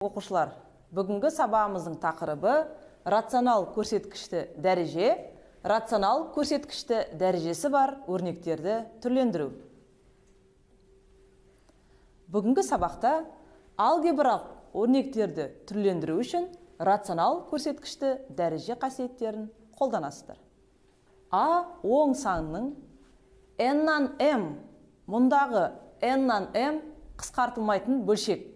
Оқушылар, бүгінгі сабағымыздың тақырыбы рационал көрсеткішті дәреже, рационал көрсеткішті дәрежесі бар өрнектерді түрлендіру. Бүгінгі сабақта алгебралық өрнектерді түрлендіру үшін рационал көрсеткішті дәреже қасиеттерін қолданасыздар. А оң санының n-нан m, мұндағы n-нан m қысқартылмайтын бөлшек.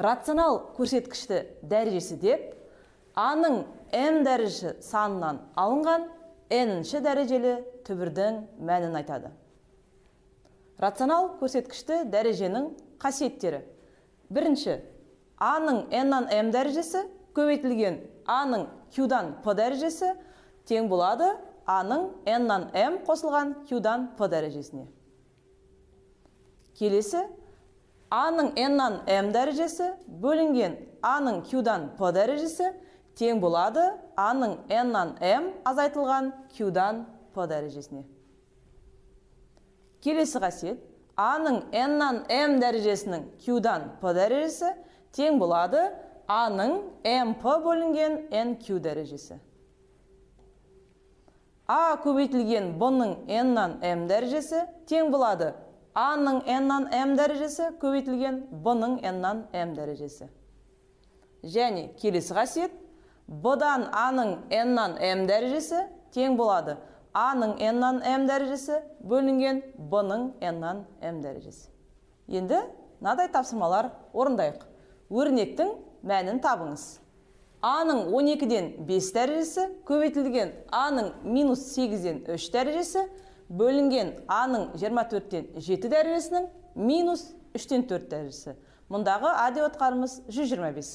Рационал көрсеткішті дәрежесі деп, А-ның m дәрежесі санынан алынған n-ші дәрежелі түбірдің мәнін айтады. Рационал көрсеткішті дәреженің қасиеттері. Бірінші, А-ның n-нан m дәрежесі көбейтілген А-ның q-дан p дәрежесі тең болады А-ның n-нан m қосылған q-дан p дәрежесіне. Келесі, А-ның n-нан m дәрежесі бөлінген А-ның q-дан p дәрежесі тең болады А-ның n-нан m азайтылған q-дан p дәрежесіне. Келесі қасиет, А-ның n-нан m дәрежесінің q-дан p дәрежесі тең болады А-ның mp бөлінген nq дәрежесі. А көбейтілген b-ның n-нан m дәрежесі тең болады А-ның n-нан m дәрежесі көбейтілген b-ның n-нан m дәрежесі. Және келесі қасиет, b-дан А-ның n-нан m дәрежесі тең болады А-ның n-нан m дәрежесі бөлінген b-ның n-нан m дәрежесі. Енді мынадай тапсырмалар орындайық. Өрнектің мәнін табыңыз. А-ның 12-ден 5 дәрежесі көбейтілген А-ның минус 8-ден 3 дәрежесі бөлінген А-ның 24-тен 7 дәрежесінің минус 3-тен 4 дәрежесі. Мұндағы А деп отқанымыз 125.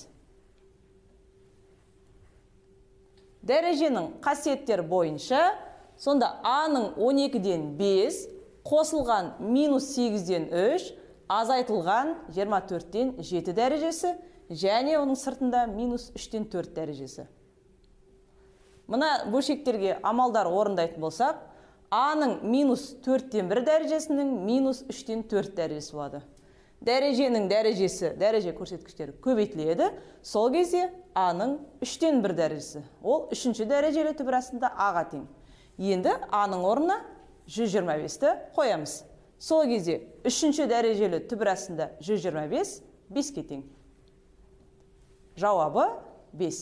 Дәреженің қасиеттері бойынша, сонда А-ның 12-ден 5 қосылған минус 8-ден 3 азайтылған 24-тен 7 дәрежесі және оның сыртында минус 3-тен 4 дәрежесі. Мұна бөлшектерге амалдар орындайтын болсақ, А-ның минус 4-тен 1 дәрежесінің минус 3-тен 4 дәрежесі болады. Дәреженің дәрежесі, дәреже көрсеткіштері көбейтіледі. Сол кезде А-ның 3-тен 1 дәрежесі. Ол 3-ші дәрежелі түбірасында А-ға тең. Енді А-ның орнына 125-ті қоямыз. Сол кезде 3-ші дәрежелі түбірасында 125 5-ке тең. Жауабы 5.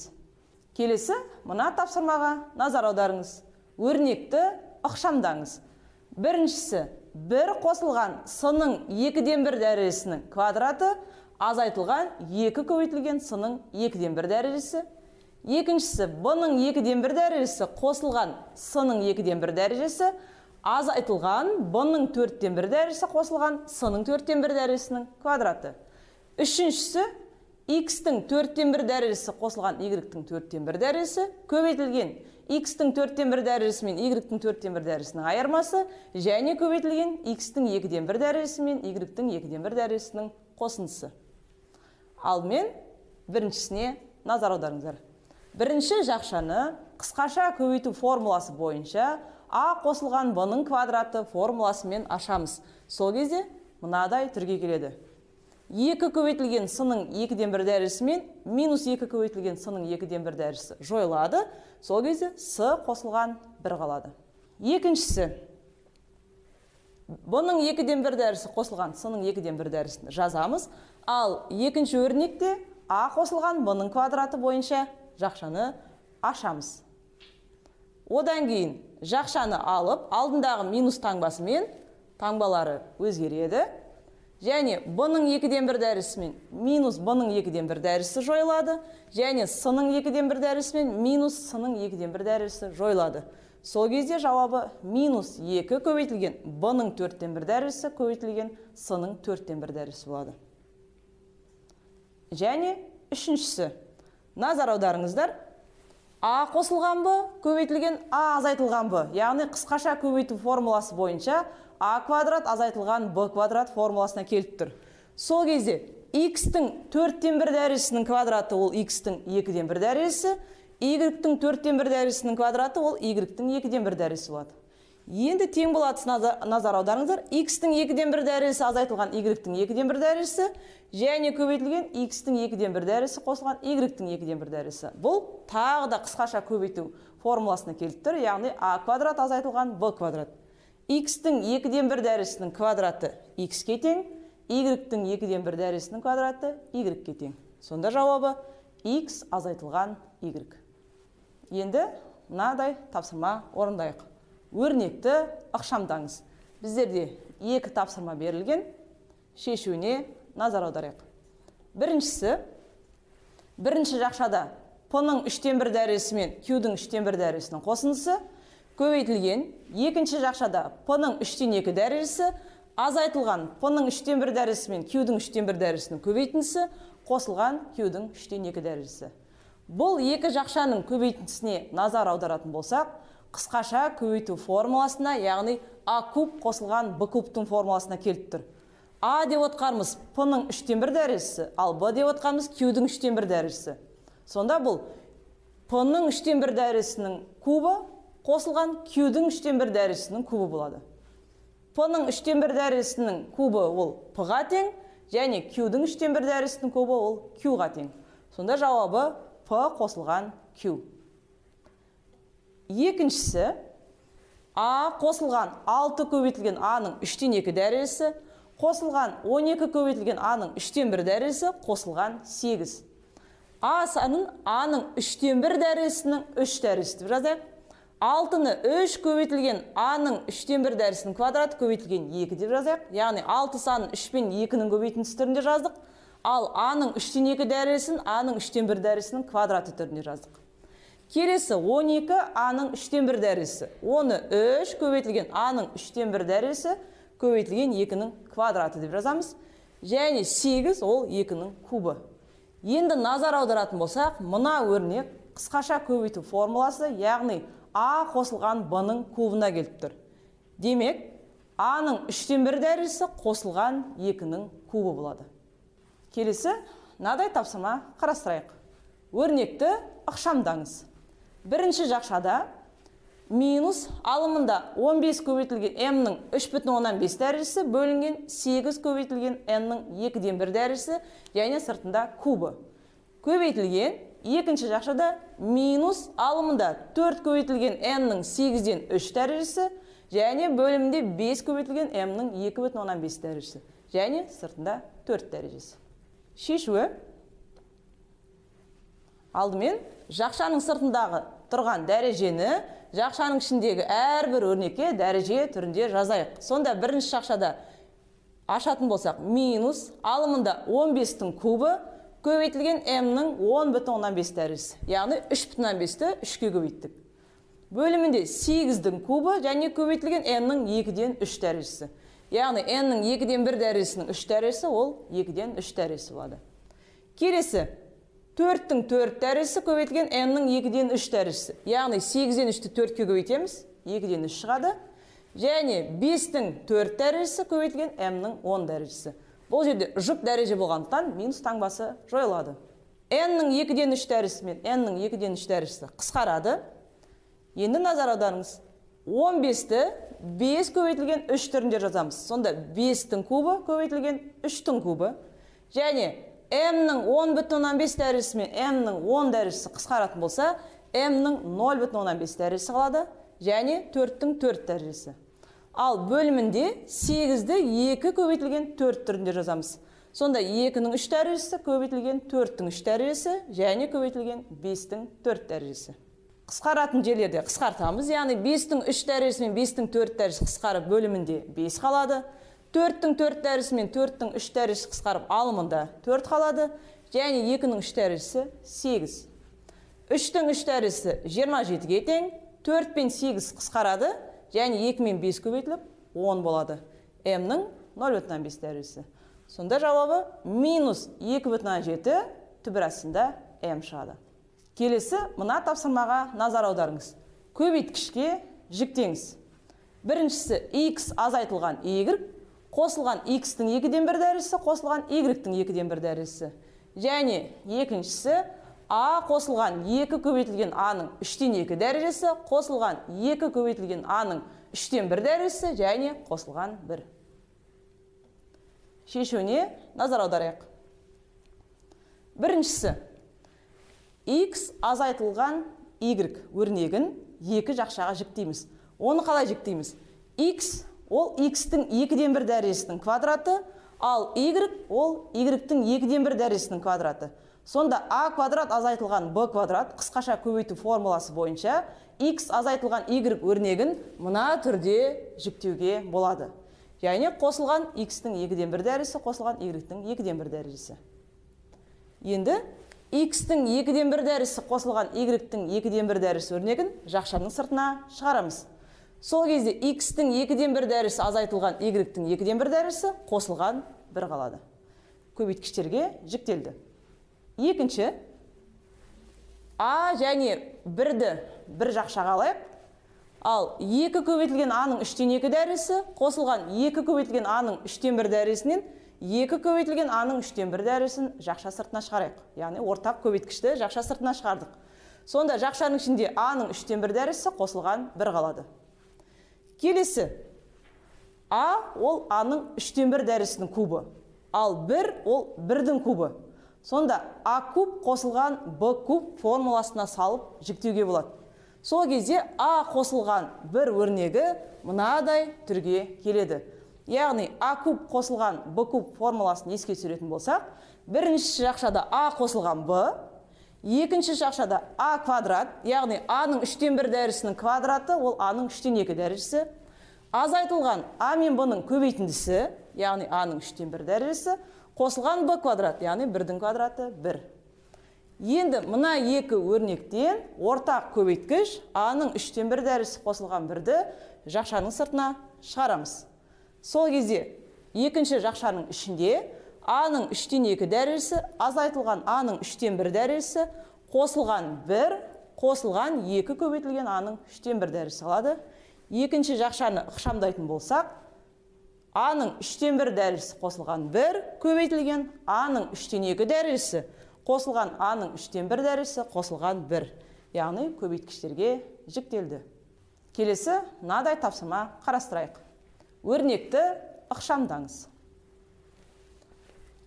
Келесі, мұна тапсырмаға назар аударыңыз. Өрнекті ықшамдаңыз. Біріншісі, бір қосылған с-ның 2-ден 1 дәрежесінің квадраты азайтылған 2 көбейтілген с-ның 2-ден 1 дәрежесі. Екіншісі, b-ның 2-ден 1 дәрежесі қосылған с-ның 2-ден 1 дәрежесі азайтылған b-ның 4-ден 1 дәрежесі қосылған с-ның 4-ден 1 дәрежесінің квадраты. Үшіншісі, x-тің 4-ден 1 дәрежесі қосылған y-тің 4-ден 1 дәрежесі көбейтілген x-тің 4-ден 1 дәрежесі мен y-тің 4-ден 1 дәрежесінің айырмасы және көбейтілген x-тің 2-ден 1 дәрежесі мен y-тің 2-ден 1 дәрежесінің қосындысы. Алдымен біріншісіне назар аударыңыздар. Бірінші жақшаны қысқаша көбейту формуласы бойынша а қосылған b-ның квадраты формуласымен ашамыз. Сол кезде мынадай түрге келеді. 2 көбейтілген с-ның 2-ден 1 дәрежесі мен минус 2 көбейтілген с-ның 2-ден 1 дәрежесі жойылады. Сол кезде с қосылған 1 қалады. Екіншісі, b-ның 2-ден 1 дәрежесі қосылған с-ның 2-ден 1 дәрежесін жазамыз. Ал екінші өрнекте а қосылған b-ның квадраты бойынша жақшаны ашамыз. Одан кейін жақшаны алып, алдындағы минус таңбасымен таңбалары өзгереді. Және b-ның 2-ден 1 дәрежесі мен минус b-ның 2-ден 1 дәрежесі жойылады. Және с-ның 2-ден 1 дәрежесі мен минус с-ның 2-ден 1 дәрежесі жойылады. Сол кезде жауабы минус 2 көбейтілген b-ның 4-ден 1 дәрежесі көбейтілген с-ның 4-ден 1 дәрежесі болады. Және үшіншісі, назар аударыңыздар. А қосылған b көбейтілген а азайтылған b, яғни қысқаша көбейту формуласы бойынша а квадрат азайтылған b квадрат формуласына келіп тұр. Сол кезде x-тің 4-ден 1 дәрежесінің квадраты ол x-тің 2-ден 1 дәрежесі, y-тің 4-ден 1 дәрежесінің квадраты ол y-тің 2-ден 1 дәрежесі болады. Енді тең болады назар аударыңыздар. X-тің 2-ден 1 дәрежесі азайтылған Y-тің 2-ден 1 дәрежесі және көбейтілген X-тің 2-ден 1 дәрежесі қосылған Y-тің 2-ден 1 дәрежесі. Бұл тағы да қысқаша көбейту формуласына келіп тұр, яғни А квадрат азайтылған Б квадрат. X-тің 2-ден 1 дәрежесінің квадраты X-ке тең, Y-тің 2-ден 1 дәрежесінің квадраты Y-ке тең. Сонда жауабы X азайтылған Y. Енді мынадай тапсырма орындайық. Өрнекті ықшамдаңыз. Біздерде 2 тапсырма берілген, шешуіне назар аударайық. Біріншісі, бірінші жақшада P-ның 3-тен 1 дәрежесі мен Q-дің 3-тен 1 дәрежесінің қосындысы көбейтілген, екінші жақшада P-ның 3-тен 2 дәрежесі азайтылған P-ның 3-тен 1 дәрежесі мен Q-дің 3-тен 1 дәрежесінің көбейтіндісі қосылған Q-дің 3-тен 2 дәрежесі. Бұл екі жақшаның көбейтіндісіне назар аударатын болсақ, қысқаша көбейту формуласына, яғни А куб қосылған Б кубтың формуласына келіп тұр. А деп отқанымыз P-ның 3-тен 1 дәрежесі, ал Б деп отқанымыз Q-дің 3-тен 1 дәрежесі. Сонда бұл P-ның 3-тен 1 дәрежесінің кубы қосылған Q-дің 3-тен 1 дәрежесінің кубы болады. P-ның 3-тен 1 дәрежесінің кубы ол P-ға тең, және Q-дің 3-тен 1 дәрежесінің кубы ол Q-ға тең. Сонда жауабы P қосылған Q. Екіншісі, А қосылған 6 көбейтілген А-ның 3-тен 2 дәрежесі, қосылған 12 көбейтілген А-ның 3-тен 1 дәрежесі, қосылған 8. А санын А-ның 3-тен 1 дәрежесінің 3 дәрежесі деп жазайық. 6-ны 3 көбейтілген А-ның 3-тен 1 дәрежесінің квадраты көбейтілген 2 деп жазайық. Яғни 6 санын 3 пен 2-ның көбейтіндісі түрінде жаздық. Ал А-ның 3-тен 2 дәрежесін А-ның 3-тен 1 дәрежесінің квадраты түрінде жаздық. Келесі 12 А-ның 3-тен 1 дәрежесі. Оны 3 көбейтілген А-ның 3-тен 1 дәрежесі көбейтілген 2-ның квадраты деп жазамыз. Және 8 ол 2-ның кубы. Енді назар аударатын болсақ, мына өрнек қысқаша көбейту формуласы, яғни А қосылған Б-ның кубына келіп тұр. Демек, А-ның 3-тен 1 дәрежесі қосылған 2-ның кубы болады. Келесі, мынадай тапсырма қарастырайық. Өрнекті ықшамдаңыз. Бірінші жақшада минус алымында 15 көбейтілген М-ның 3,5 дәрежесі бөлінген 8 көбейтілген N-ның 2-ден 1 дәрежесі және сыртында кубы. Көбейтілген екінші жақшада минус алымында 4 көбейтілген N-ның 8-ден 3 дәрежесі және бөлімінде 5 көбейтілген М-ның 2,5 дәрежесі және сыртында 4 дәрежесі. Шешуі. Алдымен жақшаның сыртындағы тұрған дәрежені жақшаның ішіндегі әрбір өрнекке дәреже түрінде жазайық. Сонда бірінші жақшада ашатын болсақ, минус алымында 15-тің кубы көбейтілген М-ның 10,5 дәрежесі. Яғни 3,5-ті 3-ке көбейттік. Бөлімінде 8-дің кубы және көбейтілген М-ның 2-ден 3 дәрежесі. Яғни N-ның 2-ден 1 дәрежесінің 3 дәрежесі ол 2-ден 3 дәрежесі болады. Келесі 4-тің 4 дәрежесі көбейтілген N-ның 2-ден 3 дәрежесі. Яғни 8-ден 3-ті 4-ке көбейтеміз, 2-ден 3 шығады. Және 5-тің 4 дәрежесі көбейтілген М-ның 10 дәрежесі. Бұл жерде жұп дәреже болғандықтан минус таңбасы жойылады. N-ның 2-ден 3 дәрежесі мен N-ның 2-ден 3 дәрежесі қысқарады. Енді назар аударыңыз. 15-ті 5 көбейтілген 3 түрінде жазамыз. Сонда 5-тің кубы көбейтілген 3-тің кубы. Және М-ның 10,5 дәрежесі мен М-ның 10 дәрежесі қысқаратын болса, М-ның 0,5 дәрежесі қалады. Және 4-тің 4 дәрежесі. Ал бөлімінде 8-ді 2 көбейтілген 4 түрінде жазамыз. Сонда 2-ның 3 дәрежесі көбейтілген 4-тің 3 дәрежесі және көбейтілген 5-тің 4 дәрежесі. Қысқаратын жерлерде қысқартамыз, яғни 5-тің 3 дәрежесі мен 5-тің 4 дәрежесі қысқарып бөлімінде 5 қалады. 4-тің 4 дәрежесі мен 4-тің 3 дәрежесі қысқарып алымында 4 қалады. Және 2-ның 3 дәрежесі 8. 3-тің 3 дәрежесі 27-ге тең, 4 пен 8 қысқарады. Және 2 мен 5 көбейтіліп 10 болады. М-ның 0,5 дәрежесі. Сонда жауабы минус 2,7 түбір астында М шығады. Келесі мына тапсырмаға назар аударыңыз. Көбейткішке жіктеңіз. Біріншісі X азайтылған Y, қосылған X-тің 2-ден 1 дәрежесі, қосылған Y-тің 2-ден 1 дәрежесі. Және екіншісі А қосылған 2 көбейтілген А-ның 3-тен 2 дәрежесі, қосылған 2 көбейтілген А-ның 3-тен 1 дәрежесі және қосылған 1. Шешуіне назар аударайық. Біріншісі, x азайтылған y өрнегін екі жақшаға жіктейміз. Оны қалай жіктейміз? X ол x-тің 2-ден 1 дәрежесінің квадраты, ал y ол y-тің 2-ден 1 дәрежесінің квадраты. Сонда a квадрат азайтылған b квадрат қысқаша көбейту формуласы бойынша x азайтылған y өрнегін мына түрде жіктеуге болады. Яғни қосылған x-тің 2-ден 1 дәрежесі, қосылған y-тің 2-ден 1 дәрежесі. Енді x-тің 2-ден 1 дәрежесі қосылған y-тің 2-ден 1 дәрежесі өрнегін жақшаның сыртына шығарамыз. Сол кезде x-тің 2-ден 1 дәрежесі азайтылған y-тің 2-ден 1 дәрежесі қосылған 1 қалады. Көбейткіштерге жіктелді. Екінші, a және 1-ді бір жақшаға алайық. Ал 2 көбейтілген a-ның 3-тен 2 дәрежесі қосылған 2 көбейтілген a-ның 3-тен 1 дәрежесінен 2 көбейтілген a-ның 3-тен 1 дәрежесін жақша сыртына шығарайық. Яғни ортақ көбейткішті жақша сыртына шығардық. Сонда жақшаның ішінде a-ның 3-тен 1 дәрежесі қосылған 1 қалады. Келесі, a ол a-ның 3-тен 1 дәрежесінің кубы, ал 1 ол 1-дің кубы. Сонда a куб қосылған b куб формуласына салып жіктеуге болады. Сол кезде a қосылған 1 өрнегі мынадай түрге келеді. Яғни a куб қосылған b куб формуласын еске түсіретін болсақ, бірінші жақшада a қосылған b, екінші жақшада a квадрат, яғни a-ның 3-тен 1 дәрежесінің квадраты, ол a-ның 3-тен 2 дәрежесі, азайтылған a мен b-ның көбейтіндісі, яғни a-ның 3-тен 1 дәрежесі, қосылған b квадрат, яғни 1-дің квадраты 1. Енді мына екі өрнектен ортақ көбейткіш a-ның 3-тен 1 дәрежесі қосылған 1-ді жақшаның сыртына шығарамыз. Сол кезде екінші жақшаның ішінде a-ның 3-тен 2 дәрежесі, азайтылған a-ның 3-тен 1 дәрежесі, қосылған 1, қосылған 2 көбейтілген a-ның 3-тен 1 дәрежесі алады. Екінші жақшаны ықшамдайтын болсақ, a-ның 3-тен 1 дәрежесі қосылған 1, көбейтілген a-ның 3-тен 2 дәрежесі, қосылған a-ның 3-тен 1 дәрежесі, қосылған 1. Яғни көбейткіштерге жіктелді. Келесі мынадай тапсырма қарастырайық. Өрнекті ықшамдаңыз.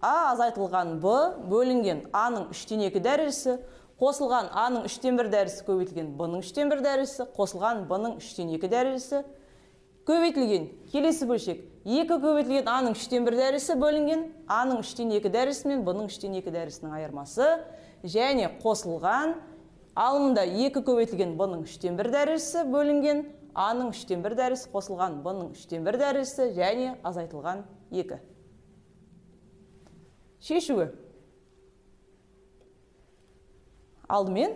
a азайтылған b бөлінген a-ның 3-тен 2 дәрежесі, қосылған a-ның 3-тен 1 дәрежесі, көбейтілген b-ның 3-тен 1 дәрежесі, қосылған b-ның 3-тен 2 дәрежесі, көбейтілген келесі бөлшек 2 көбейтілген a-ның 3-тен 1 дәрежесі бөлінген a-ның 3-тен 2 дәрежесі мен b-ның 3-тен 2 дәрежесінің айырмасы, және қосылған алымында 2 көбейтілген b-ның 3-тен 1 дәрежесі бөлінген a-ның 3-тен 1 дәрежесі, қосылған b-ның 3-тен 1 дәрежесі және азайтылған 2. Шешуі. Алдымен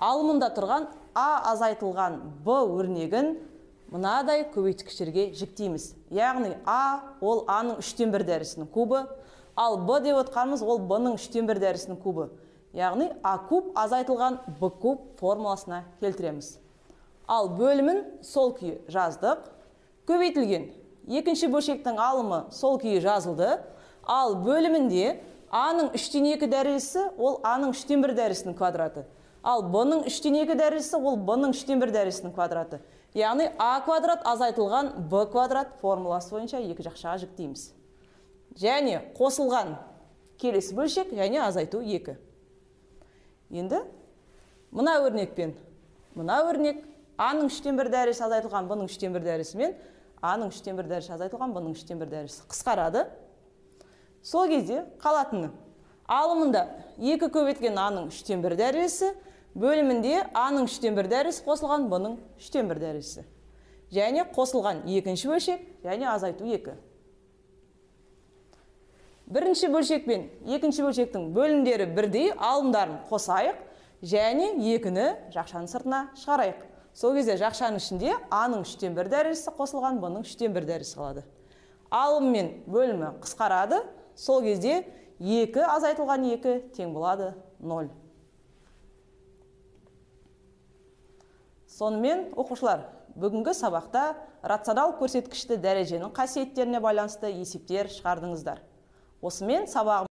алымында тұрған a азайтылған b өрнегін мынадай көбейткіштерге жіктейміз. Яғни a ол a-ның 3-тен 1 дәрежесінің кубы, ал b деп отқанымыз ол b-ның 3-тен 1 дәрежесінің кубы. Яғни a куб азайтылған b куб формуласына келтіреміз. Ал бөлімін сол күйі жаздық. Көбейтілген екінші бөлшектің алымы сол күйі жазылды. Ал бөлімінде a-ның 3-тен 2 дәрежесі ол a-ның 3-тен 1 дәрежесінің квадраты. Ал b-ның 3-тен 2 дәрежесі ол b-ның 3-тен 1 дәрежесінің квадраты. Яғни a квадрат азайтылған b квадрат формуласы бойынша екі жақшаға жіктейміз. Және қосылған келесі бөлшек және азайту 2. Енді мына өрнекпен мына өрнек a-ның 3-тен 1 дәрежесі азайтылған b-ның 3-тен 1 дәрежесі мен a-ның 3-тен 1 дәрежесі азайтылған b-ның 3-тен 1 дәрежесі қысқарады. Сол кезде қалатыны алымында 2 көбейтілген a-ның 3-тен 1 дәрежесі бөлімінде a-ның 3-тен 1 дәрежесі қосылған b-ның 3-тен 1 дәрежесі. Және қосылған екінші бөлшек және азайту 2. Бірінші бөлшек пен екінші бөлшектің бөлімдері бірдей, алымдарын қосайық және 2-ні жақшаның сыртына шығарайық. Сол кезде жақшаның ішінде a-ның 3-тен 1 дәрежесі қосылған b-ның 3-тен 1 дәрежесі қалады. Алым мен бөлімі қысқарады. Сол кезде 2 азайтылған 2 тең болады 0. Сонымен оқушылар, бүгінгі сабақта рационал көрсеткішті дәреженің қасиеттеріне байланысты есептер шығардыңыздар. Осымен сабағымыз